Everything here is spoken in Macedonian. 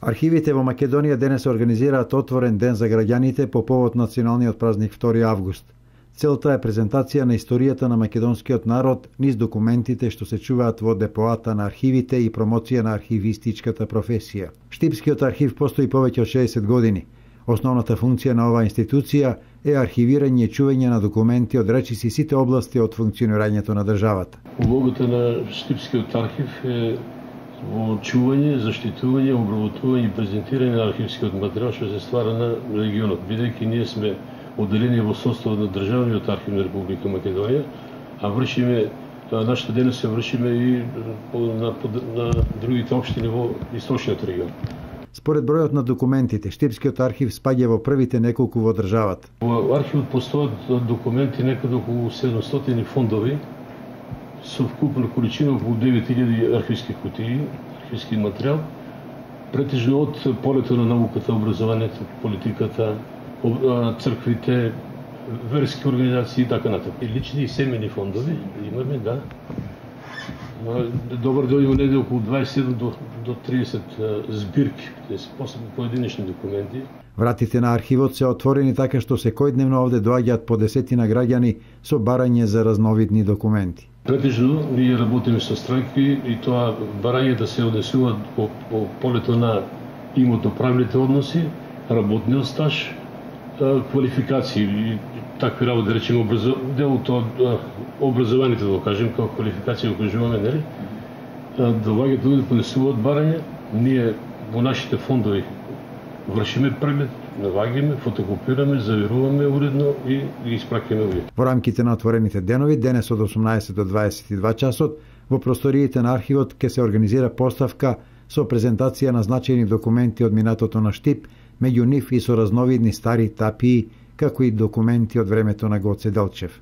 Архивите во Македонија денес организираат отворен ден за граѓаните по повод националниот празник 2 август. Целта е презентација на историјата на македонскиот народ низ документите што се чуваат во депоата на архивите и промоција на архивистичката професија. Штипскиот архив постои повеќе од 60 години. Основната функција на оваа институција е архивирање и чување на документи од речиси сите области од функционирањето на државата. Улогата на Штипскиот архив е во чување, заштитување, обработување и презентирање на архивскиот материјал што се ствара на регионот, бидејќи ние сме одделени во составот на Државниот архив на Република Македонија, а нашата дејност се вршиме и на другите општини во источниот регион. Според бројот на документите, Штипскиот архив спаѓа во првите неколку во државата. Во архивот постојат документи некаде околу 700 фондови со вкупна количина околу 9000 архивски кутии, архивски материјал, претежно од полето на науката, образованието, политиката, црквите, верски организации и така натаму. И лични и семени фондови имаме, да. Добар дел има неде околу 27 до 30 збирки, посебно поединечни документи. Вратите на архивот се отворени така што секојдневно овде доаѓаат по десетина граѓани со барање за разновидни документи. Претежно ние работиме со странки и тоа барање да се однесуваат по полето на имотно-правните односи, работниот стаж, квалификации и такви работи, да речеме делот од образованието, да кажем, како квалификација го кажуваме, нели? Доаѓаат луѓе да поднесуваат барање, ние во нашите фондови вршиме преглед, наваѓаме, фотокопираме, заверуваме уредно и ги испраќаме луѓе. Во рамките на отворените денови, денес од 18 до 22 часот, во просториите на архивот ќе се организира поставка со презентација на значајни документи од минатото на Штип, меѓу нив и со разновидни стари тапии, како и документи од времето на Гоце Делчев.